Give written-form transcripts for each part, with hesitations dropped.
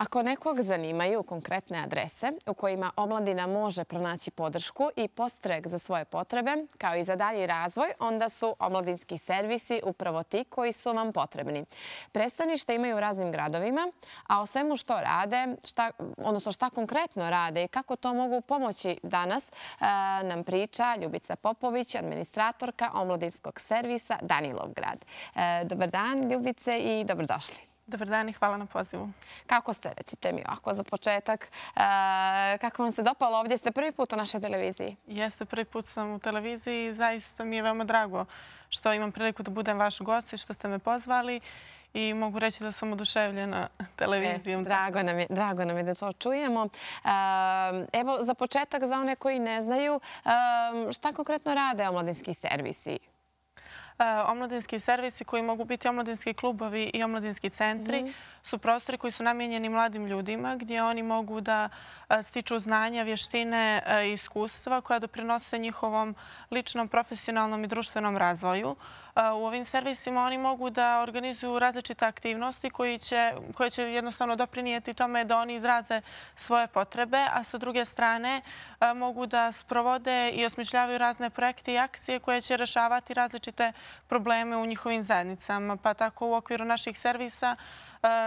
Ako nekog zanimaju konkretne adrese u kojima omladina može pronaći podršku i podstrek za svoje potrebe, kao i za dalji razvoj, onda su omladinski servisi upravo ti koji su vam potrebni. Predstavništa imaju u raznim gradovima, a o svemu što rade, odnosno šta konkretno rade i kako to mogu pomoći danas, nam priča Ljubica Popović, administratorka omladinskog servisa Danilovgrad. Dobar dan, Ljubice, i dobrodošli. Dobar dan i hvala na pozivu. Kako ste, recite mi ovako za početak, kako vam se dopalo? Ovdje ste prvi put u našoj televiziji. Jeste, prvi put sam u televiziji i zaista mi je veoma drago što imam priliku da budem vaš gost i što ste me pozvali. I mogu reći da sam oduševljena televizijom. Drago nam je da to čujemo. Evo, za početak, za one koji ne znaju, šta konkretno rade omladinski servisi? Omladinski servisi koji mogu biti omladinski klubovi i omladinski centri su prostori koji su namijenjeni mladim ljudima gdje oni mogu da stiču znanja, vještine i iskustva koja doprinose njihovom ličnom, profesionalnom i društvenom razvoju. U ovim servisima oni mogu da organizuju različite aktivnosti koje će jednostavno doprinijeti tome da oni izraze svoje potrebe, a sa druge strane mogu da sprovode i osmišljavaju razne projekte i akcije koje će rešavati različite probleme u njihovim zajednicama. Pa tako u okviru naših servisa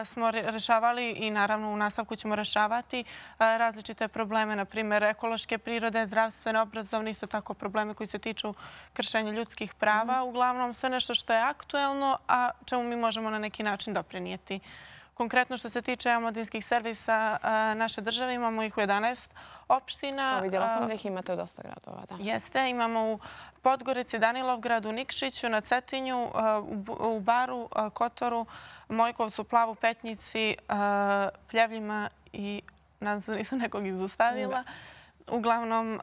smo rešavali i naravno u nastavku ćemo rešavati različite probleme, na primjer ekološke prirode, zdravstvene, obrazovne, isto tako probleme koji se tiču kršenja ljudskih prava. Uglavnom sve nešto što je aktuelno, a čemu mi možemo na neki način doprinijeti. Konkretno što se tiče omladinskih servisa naše države, imamo ih u 11 opština. Vidjela sam da ih imate u dosta gradova. Jeste, imamo u Podgorici, Danilovgradu, Nikšiću, na Cetinju, u Baru, Kotoru, Mojkovcu, Plavu, Petnici, Pljevljima i nadam se da nisam nekog izostavila. Uglavnom,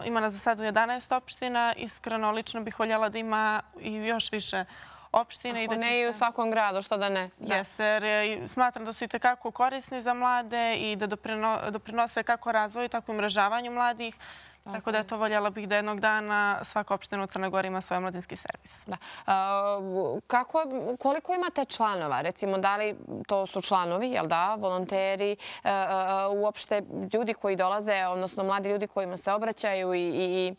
ima nas za sad u 11 opština. Iskreno, lično bih voljela da ima i još više opštine. Ako ne i u svakom gradu, što da ne? Jeste, jer smatram da su i tekako korisni za mlade i da doprinose kako razvoju, tako i umrežavanju mladih. Tako da to voljela bih da jednog dana svaka opština u Crnoj Gori ima svoj omladinski servis. Koliko imate članova? Recimo, da li to su članovi, jel da, volonteri, uopšte ljudi koji dolaze, odnosno mladi ljudi kojima se obraćaju i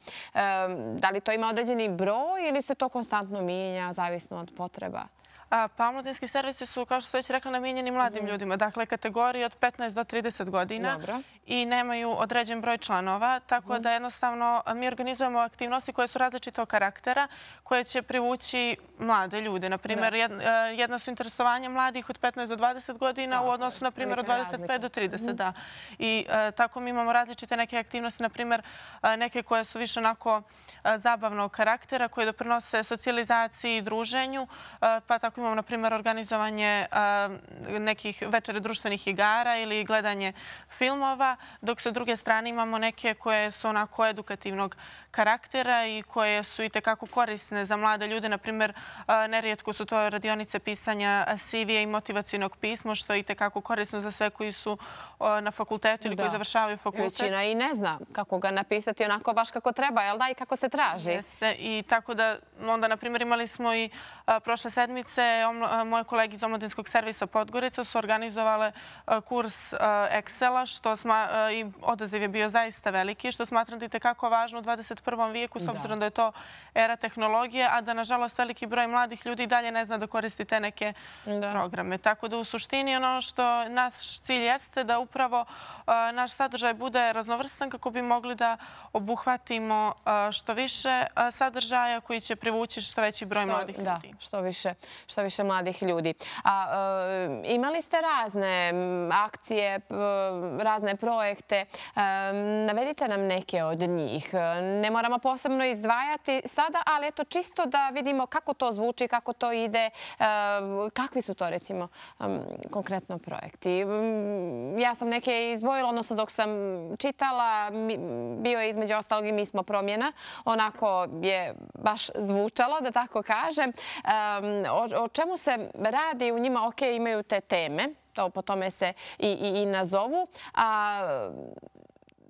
da li to ima određeni broj ili se to konstantno mijenja, zavisno od potreba? Pa omladinski servisi su, kao što sam već rekla, namijenjeni mladim ljudima. Dakle, kategorije od 15 do 30 godina i nemaju određen broj članova. Tako da jednostavno mi organizujemo aktivnosti koje su različitog karaktera, koje će privući mlade ljude. Naprimjer, jedno su interesovanje mladih od 15 do 20 godina u odnosu, na primjer, od 25 do 30. I tako mi imamo različite neke aktivnosti, naprimjer, neke koje su više onako zabavnog karaktera, koje doprinose socijalizaciji i druženju, pa tako imamo, na primjer, organizovanje nekih večera društvenih igara ili gledanje filmova, dok sa druge strane imamo neke koje su onako edukativnog karaktera i koje su i tekako korisne za mlade ljude. Na primjer, nerijetko su to radionice pisanja CV-a i motivacijnog pisma, što je i tekako korisno za sve koji su na fakultetu ili koji završavaju fakultet. Većina i ne zna kako ga napisati onako baš kako treba, jel da, i kako se traži. Jeste, i tako da onda, na primjer, imali smo i prošle sedmice moje kolege iz omladinskog servisa Podgorica su organizovale kurs Excela, što i odaziv je bio zaista veliki, što smatram da je tekako važno u 21. vijeku, s obzirom da je to era tehnologije, a da, nažalost, veliki broj mladih ljudi dalje ne zna da koristi te neke programe. Tako da, u suštini, ono što naš cilj jeste da upravo naš sadržaj bude raznovrstan kako bi mogli da obuhvatimo što više sadržaja koji će privući što veći broj mladih ljudi. Da, što više mladih ljudi. Imali ste razne akcije, razne projekte. Navedite nam neke od njih. Ne moramo posebno izdvajati sada, ali eto čisto da vidimo kako to zvuči, kako to ide, kakvi su to, recimo, konkretno projekti. Ja sam neke izdvojila, odnosno dok sam čitala, bio je između ostalog i Mi smo promjena. Onako je baš zvučalo, da tako kažem. O čemu se radi u njima? Ok, imaju te teme, po tome se i nazovu.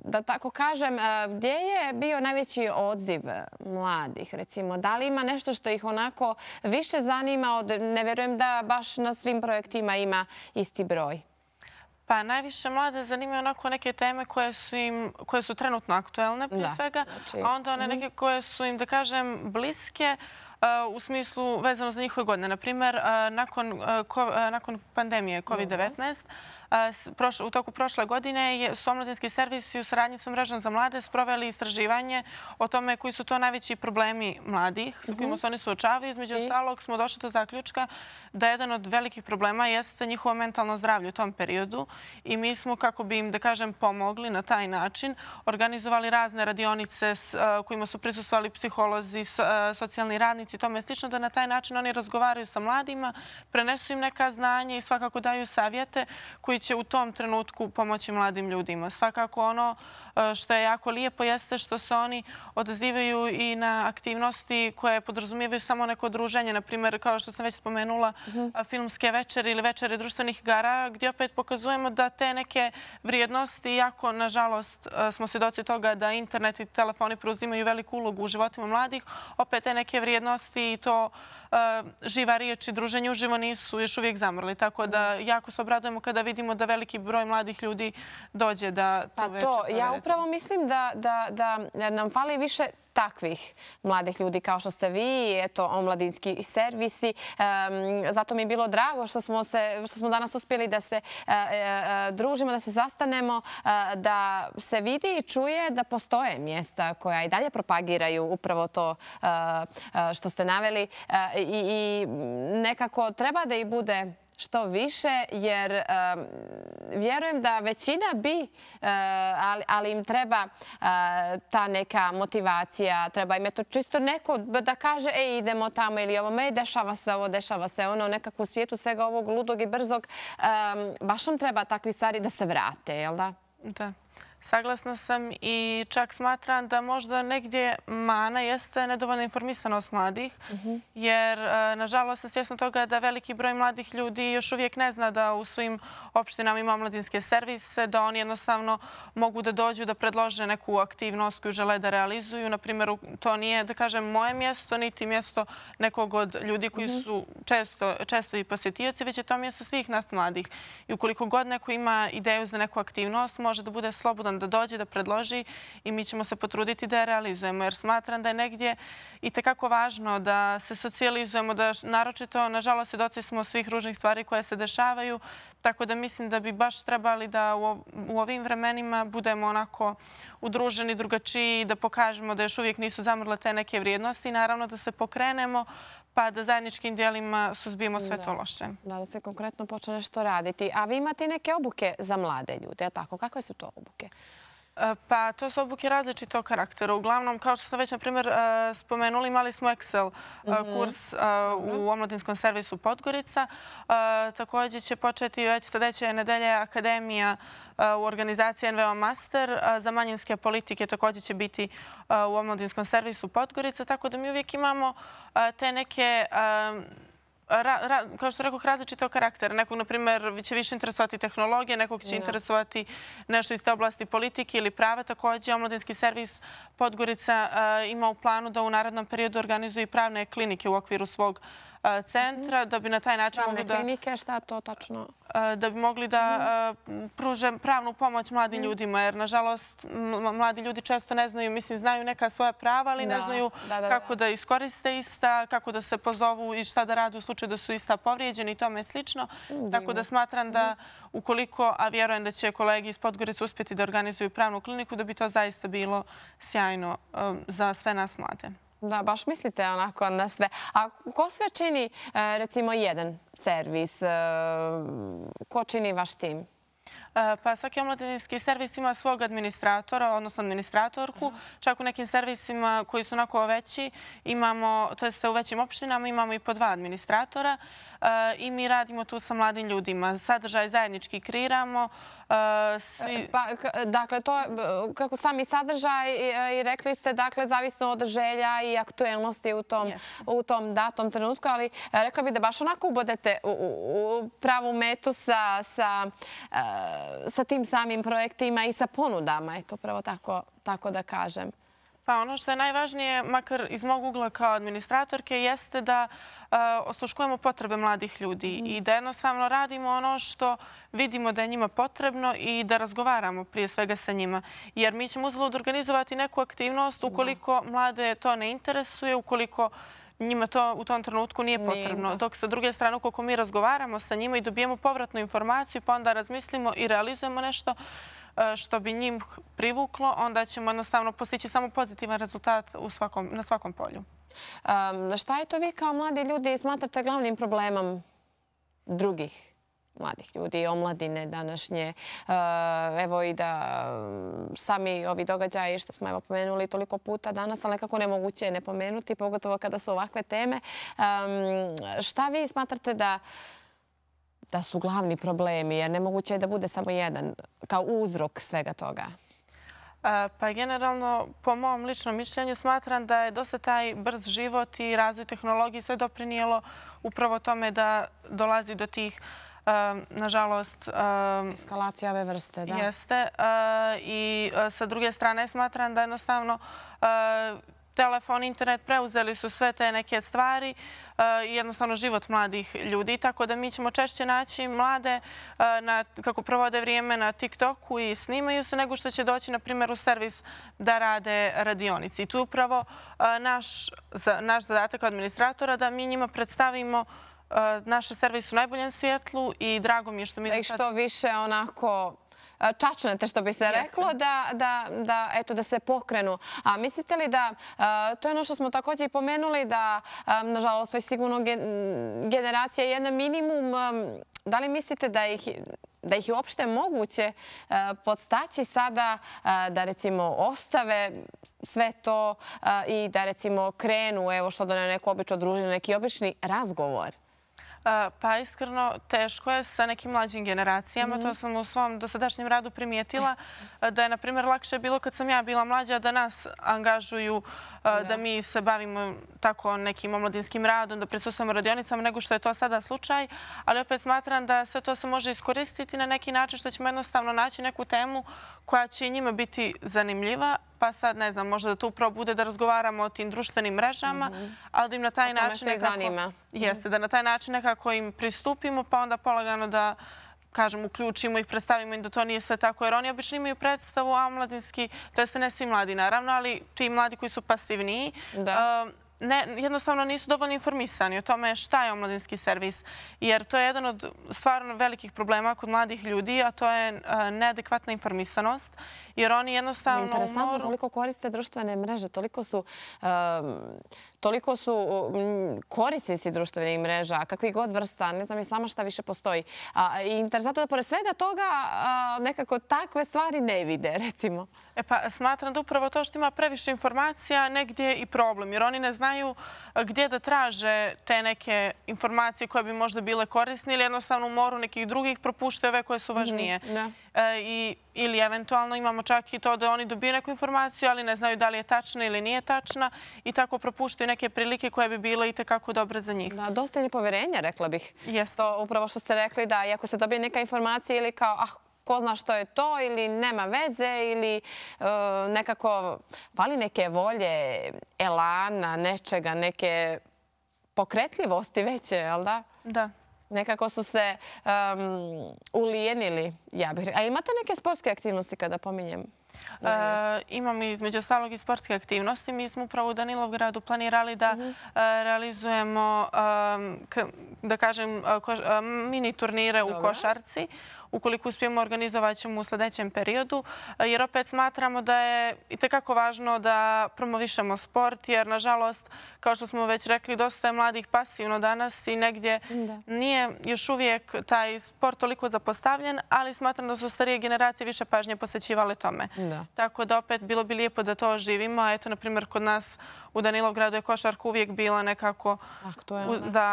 Da tako kažem, gdje je bio najveći odziv mladih? Recimo, da li ima nešto što ih onako više zanima? Ne vjerujem da baš na svim projektima ima isti broj. Pa najviše mlade zanimaju onako neke teme koje su trenutno aktuelne prije svega, a onda one neke koje su im, da kažem, bliske u smislu vezano za njihove godine. Naprimjer, nakon pandemije COVID-19, u toku prošle godine su omladinski servisi u saradnji sa Mrežom za mlade sproveli istraživanje o tome koji su to najveći problemi mladih sa kojima se oni suočavaju. Između ostalog smo došli do zaključka da jedan od velikih problema jeste njihovo mentalno zdravlje u tom periodu i mi smo, kako bi im, da kažem, pomogli na taj način, organizovali razne radionice kojima su prisustvovali psiholozi, socijalni radnici i tome slično, da na taj način oni razgovaraju sa mladima, prenesu im neka znanja i svakako daju savjete koji će u tom trenutku pomoći mladim ljudima. Svakako ono što je jako lijepo jeste što se oni odazivaju i na aktivnosti koje podrazumijevaju samo neko druženje. Naprimjer, kao što sam već spomenula, filmske večeri ili večeri društvenih igara, gdje opet pokazujemo da te neke vrijednosti, iako nažalost smo svjedoci toga da internet i telefoni preuzimaju veliku ulogu u životima mladih, opet te neke vrijednosti i to živa riječ i druženje uživo nisu još uvijek zamrli. Tako da jako se obradujemo kada vidimo da veliki broj mladih ljudi dođe da tu večer provedete. Ja upravo mislim da nam fali više takvih mladih ljudi kao što ste vi, eto, omladinski servisi. Zato mi je bilo drago što smo danas uspjeli da se družimo, da se sastanemo, da se vidi i čuje da postoje mjesta koja i dalje propagiraju upravo to što ste naveli i nekako treba da ih bude što više, jer vjerujem da većina bi, ali im treba ta neka motivacija, treba im je to čisto neko da kaže idemo tamo ili ovo, dešava se ovo, dešava se ono, nekako u svijetu svega ovog ludog i brzog. Baš nam treba takvi stvari da se vrate, jel da? Da. Saglasna sam i čak smatram da možda negdje mana jeste nedovoljna informisanost mladih, jer nažalost sam svjesna toga da veliki broj mladih ljudi još uvijek ne zna da u svojim opštinama ima omladinske servise, da oni jednostavno mogu da dođu da predlože neku aktivnost koju žele da realizuju. Naprimjer, to nije, da kažem, moje mjesto, niti mjesto nekog od ljudi koji su često i posjetioci, već je to mjesto svih nas mladih. I ukoliko god neko ima ideju za neku aktivnost, može da bude slobodan da dođe, da predloži i mi ćemo se potruditi da je realizujemo. Jer smatram da je negdje i tekako važno da se socijalizujemo, da naročito, nažalost, svjedoci smo svih ružnih stvari koje se dešavaju, tako da mislim da bi baš trebali da u ovim vremenima budemo onako udruženi, drugačiji, da pokažemo da još uvijek nisu zamrle te neke vrijednosti i naravno da se pokrenemo pa da zajedničkim dijelima suzbijemo sve to loše. Da se konkretno počne nešto raditi. A vi imate i neke obuke za mlade ljude, tako? Kakve su to obuke? Pa to su obuke različitog karaktera. Uglavnom, kao što sam već, na primjer, spomenuli, imali smo Excel kurs u omladinskom servisu Podgorica. Također će početi već sljedeće nedelje Akademija u organizaciji NVO Master za manjinske politike. Također će biti u omladinskom servisu Podgorica. Tako da mi uvijek imamo te neke kao što rekao, različitog karaktera. Nekog, na primjer, će više interesovati tehnologije, nekog će interesovati nešto iz te oblasti politike ili prava. Također, omladinski servis Podgorica ima u planu da u narednom periodu organizuje pravne klinike u okviru svog centra, da bi na taj način mogli da... Pravne klinike, šta to tačno? Da bi mogli da pruže pravnu pomoć mladim ljudima, jer nažalost mladi ljudi često ne znaju, mislim, znaju neka svoja prava, ali ne znaju kako da iskoriste ista, kako da se pozovu i šta da rade u slučaju da su ista povrijeđeni i tome slično. Tako da smatram da ukoliko, a vjerujem da će kolegi iz Podgorice uspjeti da organizuju pravnu kliniku, da bi to zaista bilo sjajno za sve nas mlade. Da, baš mislite onako na sve. A ko sve čini, recimo, jedan servis? Ko čini vaš tim? Pa svaki omladinski servis ima svog administratora, odnosno administratorku. Čak u nekim servisima koji su onako veći, imamo, to jest u većim opštinama, imamo i po 2 administratora i mi radimo tu sa mladim ljudima. Sadržaj zajednički kreiramo. Dakle, to je kako sami sadržaj i rekli ste, dakle, zavisno od želja i aktuelnosti u tom datom trenutku, ali rekla bih da baš onako ubodete u pravu metu sa tim samim projektima i sa ponudama, eto, upravo tako da kažem. Pa ono što je najvažnije, makar iz mog ugla kao administratorke, jeste da osluškujemo potrebe mladih ljudi i da jednostavno radimo ono što vidimo da je njima potrebno i da razgovaramo prije svega sa njima. Jer mi ćemo uzalud organizovati neku aktivnost ukoliko mlade to ne interesuje, ukoliko njima to u tom trenutku nije potrebno. Dok sa druge strane, ukoliko mi razgovaramo sa njima i dobijemo povratnu informaciju, pa onda razmislimo i realizujemo nešto što bi njim privuklo, onda ćemo jednostavno postići samo pozitivan rezultat na svakom polju. Šta je to vi kao mladi ljudi smatrate glavnim problemom drugih mladih ljudi, omladine današnje? Evo i da sami ovi događaji što smo pomenuli toliko puta danas, ali nekako nemoguće je ne pomenuti, pogotovo kada su ovakve teme. Šta vi smatrate da su glavni problemi, jer nemoguće je da bude samo jedan kao uzrok svega toga? Pa generalno, po mom ličnom mišljenju, smatram da je dosta taj brz život i razvoj tehnologije sve doprinijelo upravo tome da dolazi do tih, nažalost... Eskalacija ove vrste, da. Jeste. I sa druge strane smatram da jednostavno telefon, internet preuzeli su sve te neke stvari i jednostavno život mladih ljudi. Tako da mi ćemo češće naći mlade kako provode vrijeme na TikToku i snimaju se nego što će doći, na primjer, u servis da rade radionici. I tu je upravo naš zadatak administratora da mi njima predstavimo naše servise u najboljem svjetlu i drago mi je što mi... Da ih što više onako... čačnete, što bi se reklo, da se pokrenu. A mislite li da, to je ono što smo također i pomenuli, da, nažalost, to je sigurno generacija jedna minimum, da li mislite da ih je uopšte moguće podstaći sada da, recimo, ostave sve to i da, recimo, krenu, evo što da ne neko obično druženje, neki obični razgovor? Pa iskreno teško je sa nekim mlađim generacijama. To sam u svom dosadašnjem radu primijetila da je, na primjer, lakše bilo kad sam ja bila mlađa da nas angažuju da mi se bavimo tako nekim omladinskim radom, da prisustvujemo radionicama nego što je to sada slučaj. Ali opet smatram da sve to se može iskoristiti na neki način što ćemo jednostavno naći neku temu koja će i njima biti zanimljiva. Pa sad, ne znam, možda da to upravo bude da razgovaramo o tim društvenim mrežama, ali da im na taj način nekako... Jeste, da na taj način nekako im pristupimo, pa onda polagano da, kažem, uključimo ih, predstavimo im da to nije sve tako. Jer oni obično imaju predstavu, a omladinski, to jeste ne svi mladi naravno, ali ti mladi koji su pasivniji, jednostavno nisu dovoljno informisani o tome šta je omladinski servis. Jer to je jedan od stvarno velikih problema kod mladih ljudi, a to je neadekvatna informisanost. Jer oni jednostavno... Interesantno, toliko koriste društvene mreže, toliko su korisnici društvenih mreža, kakvih god vrsta, ne znam i sama šta više postoji. I interesantno da pored svega toga nekako takve stvari ne vide, recimo. Pa smatram da upravo to što ima previše informacija negdje i problem, jer oni ne znaju gdje da traže te neke informacije koje bi možda bile korisne ili jednostavno u moru nekih drugih propuštaju ove koje su važnije. Ili eventualno imamo čak i to da oni dobiju neku informaciju, ali ne znaju da li je tačna ili nije tačna i tako propuštaju neke prilike koje bi bile i tekako dobre za njih. Dosta je nepoverenja, rekla bih. To upravo što ste rekli, da iako se dobije neka informacija ili kao ko zna što je to ili nema veze ili nekako fali neke volje, elana, nečega, neke pokretljivosti veće, jel da? Da. Nekako su se ulijenili, ja bih rekla. A imate neke sportske aktivnosti kada pominjem? Imamo između ostalog i sportske aktivnosti. Mi smo upravo u Danilovgradu planirali da realizujemo, da kažem, mini turnire u košarci. Ukoliko uspijemo, organizovat ćemo u sljedećem periodu, jer opet smatramo da je itekako važno da promovišemo sport, jer nažalost, kao što smo već rekli, dosta je mladih pasivno danas i negdje nije još uvijek taj sport toliko zapostavljen, ali smatram da su starije generacije više pažnje posvećivale tome. Tako da opet bilo bi lijepo da to oživimo. Eto, na primjer, kod nas u Danilovgradu je košarka uvijek bila nekako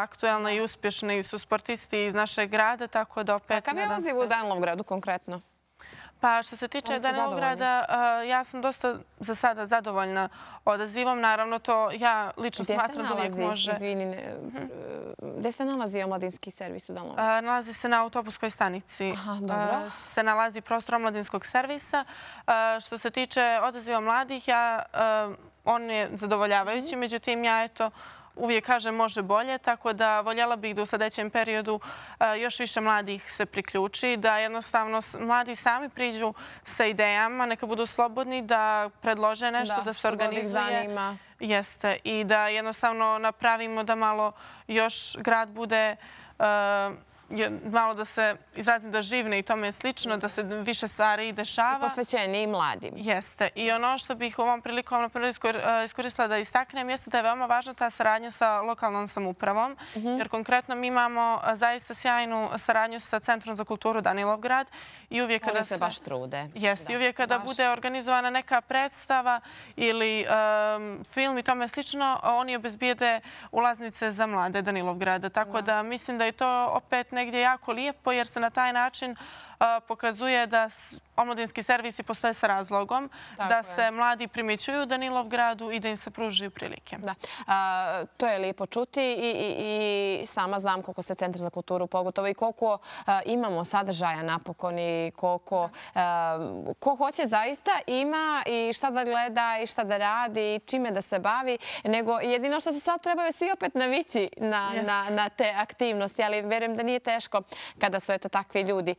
aktuelna i uspješna i su sportisti iz našeg grada, tako da opet... Kakav je odziv u Danilovgradu konkretno? Pa što se tiče Danilovgrada, ja sam dosta za sada zadovoljna odazivom. Naravno, to ja lično smatram da uvijek može... Gde se nalazi omladinski servis u Danilovgradu? Nalazi se na autobuskoj stanici. Se nalazi prostor omladinskog servisa. Što se tiče odaziva mladih, on je zadovoljavajući, međutim, ja uvijek kažem može bolje, tako da voljela bih da u sljedećem periodu još više mladih se priključi, da jednostavno mladi sami priđu sa idejama, neka budu slobodni, da predlože nešto, da se organizuje. Jeste. I da jednostavno napravimo da malo još grad bude malo da se izrazim da živne i tome je slično, da se više stvari dešava. I posvećeni i mladim. Jeste. I ono što bih u ovom prilikom iskoristila da istaknem jeste da je veoma važna ta saradnja sa lokalnom samoupravom, jer konkretno mi imamo zaista sjajnu saradnju sa Centrom za kulturu Danilovgrad. Oni se baš trude. Jeste. I uvijek kada bude organizovana neka predstava ili film i tome slično, oni obezbijede ulaznice za mlade Danilovgrada. Tako da mislim da je to opet negdje jako lijepo jer se na taj način pokazuje da omladinski servisi postoje sa razlogom, da se mladi primjećuju u Danilovgradu i da im se pružaju prilike. To je lijepo čuti i sama znam koliko se Centar za kulturu pogotovo i koliko imamo sadržaja napokon i koliko ko hoće zaista ima i šta da gleda i šta da radi i čime da se bavi, nego jedino što se sad trebaju svi opet navići na te aktivnosti, ali verujem da nije teško kada su takvi ljudi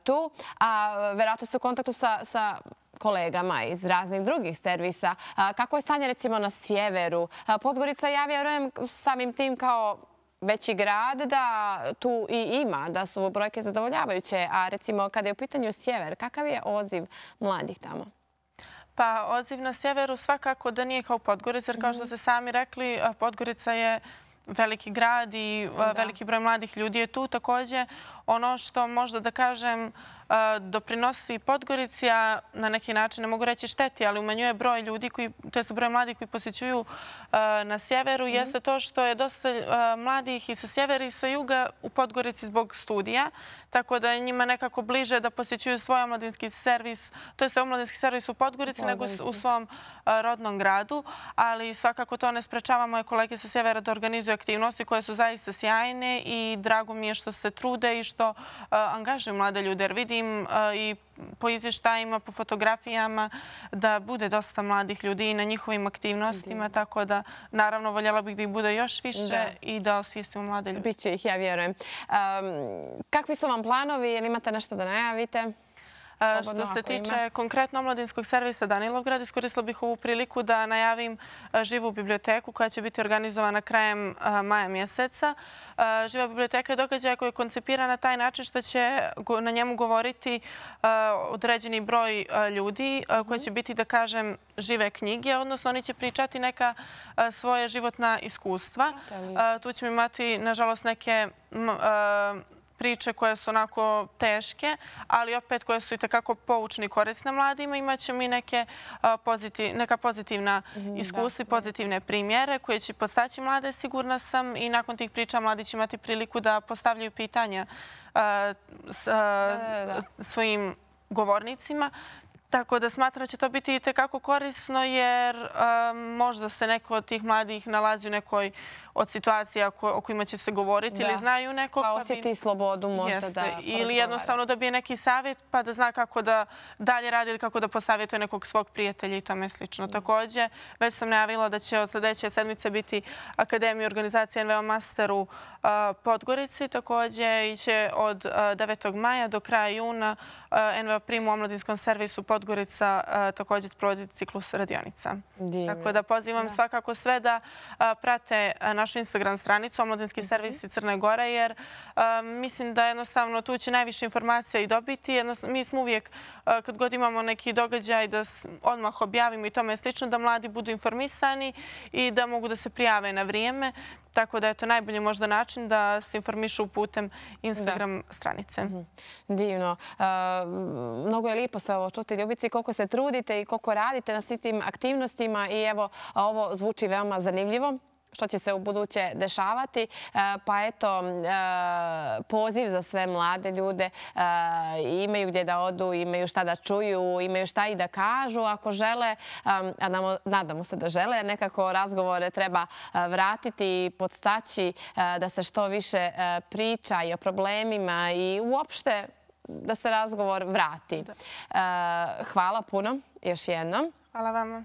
tu. A verovatno ste u kontaktu sa kolegama iz raznih drugih servisa. Kako je stanje recimo na sjeveru? Podgorica, ja vjerujem samim tim kao veći grad da tu i ima, da su brojke zadovoljavajuće. A recimo kada je u pitanju sjever, kakav je odziv mladih tamo? Pa odziv na sjeveru svakako da nije kao Podgorica, jer kao što ste sami rekli, Podgorica je veliki grad i veliki broj mladih ljudi je tu. Također, ono što možda da kažem doprinosi Podgorici, a na neki način ne mogu reći šteti, ali umanjuje broj ljudi, to je broj mladih koji posjećuju na sjeveru, jeste to što je dosta mladih i sa sjevera i sa juga u Podgorici zbog studija, tako da je njima nekako bliže da posjećuju svoj omladinski servis, to je omladinski servis u Podgorici nego u svom rodnom gradu, ali svakako to ne sprečava moje kolege sa sjevera da organizuju aktivnosti koje su zaista sjajne i drago mi je što se trude i što angažuju mlade ljude, jer vidim i po izvještajima, po fotografijama da bude dosta mladih ljudi i na njihovim aktivnostima, tako da naravno voljela bih da ih bude još više i da osvijestimo mlade ljude. Biće ih, ja vjerujem. Kakvi su vam planovi? Ili imate nešto da najavite? Što se tiče konkretno omladinskog servisa Danilovgrad, iskoristila bih ovu priliku da najavim živu biblioteku koja će biti organizovana krajem maja mjeseca. Živa biblioteka je događaj koji je koncipiran na taj način što će na njemu govoriti određeni broj ljudi koji će biti, da kažem, žive knjige, odnosno oni će pričati neka svoje životna iskustva. Tu ćemo imati, nažalost, neke priče koje su onako teške, ali opet koje su i takako poučne i korisne mladima. Imaćemo i neka pozitivna iskustva i pozitivne primjere koje će podstaći mlade, sigurna sam, i nakon tih priča mladi će imati priliku da postavljaju pitanja svojim govornicima. Tako da smatram da će to biti i tekako korisno jer možda se neko od tih mladih nalazi u nekoj od situacija o kojima će se govoriti ili znaju nekog. Pa osjeti slobodu možda da porazgovara. Ili jednostavno dobije neki savjet pa da zna kako da dalje radi ili kako da posavjetuje nekog svog prijatelja i tome slično. Također, već sam najavila da će od sljedeće sedmice biti Akademija organizacije NVO Master u Podgorici. Također će od 9. maja do kraja juna NVO Prim u omladinskom servisu Podgorica također sprovoditi ciklus radionica. Tako da pozivam svakako sve da prate našu Instagram stranicu Omladinski servisi Crne Gore, jer mislim da jednostavno tu će najviše informacija i dobiti. Mi smo uvijek, kad god imamo neki događaj, da odmah objavimo i tome slično, da mladi budu informisani i da mogu da se prijave na vrijeme. Tako da je to najbolji možda način da se informišu putem Instagram stranice. Divno. Mnogo je lijepo sve ovo čuti, Ljubice, koliko se trudite i koliko radite na svim tim aktivnostima i evo, ovo zvuči veoma zanimljivo. što će se u buduće dešavati. Pa eto, poziv za sve mlade ljude. Imaju gdje da odu, imaju šta da čuju, imaju šta i da kažu ako žele. A nadamo se da žele, jer nekako razgovore treba vratiti i podstaći da se što više priča i o problemima i uopšte da se razgovor vrati. Hvala puno još jednom. Hvala vama.